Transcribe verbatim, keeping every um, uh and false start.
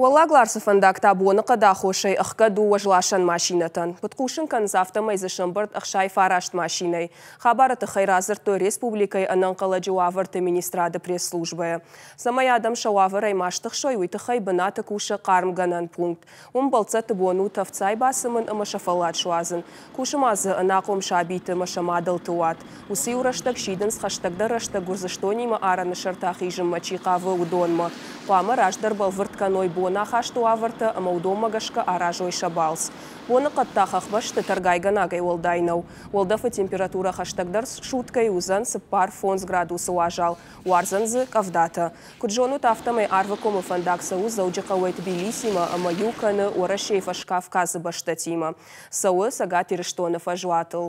Уӕллаг Ларсы фӕндаг та боныхъӕды аххосӕй ӕхгӕд у уӕзласӕн машинӕтӕн. Куыд хъусын кӕнынц, афтӕмӕй дзы сӕмбӕрд ӕхсай фараст машинӕйы. Хабары тыххӕй радзырдтой республикӕйы ӕнӕнхъӕлӕджы уавӕрты министрады пресс-службӕйы. Цӕмӕй адӕм сӕ уавӕрӕй ма стыхсой, уый тыххӕй бынаты кусы хъармгӕнӕн пункт. Уым бӕлццӕтты бон у тӕвд цай бацымын ӕмӕ сӕ фӕллад суадзын. Кусы ма дзы ӕнахъом сабиты ӕмӕ сӕ мадӕлты уат. Уыцы иу рӕстӕг сидынц, хӕстӕгдӕр рӕстӕг Гуырдзыстонимӕ арӕны сӕрты ахизынмӕ чи хъавы, уыдонмӕ. Хъуамӕ раздӕр бӕлвырд кӕной бонахасты уавӕртӕ ӕмӕ уыдонмӕ гӕсгӕ аразой сӕ балц. Боныхъӕд та хӕхбӕсты тӕргайгӕнагӕй уӕлдай нӕу. Уӕлдӕфы температурӕ хӕстӕгдӕр суткӕйы уыдзӕн цыппар фондз градусы уазал, уардзӕн дзы къӕвдатӕ. Куыд зонут, афтӕмӕй Арвыкомы фӕндаг цӕуы Дзӕуджыхъӕуӕй Тбилисимӕ ӕмӕ иу кӕны Уӕрӕсейы Фӕскавказы бӕстӕтимӕ. Цӕуы Цӕгат Ирыстоны фӕзуатыл.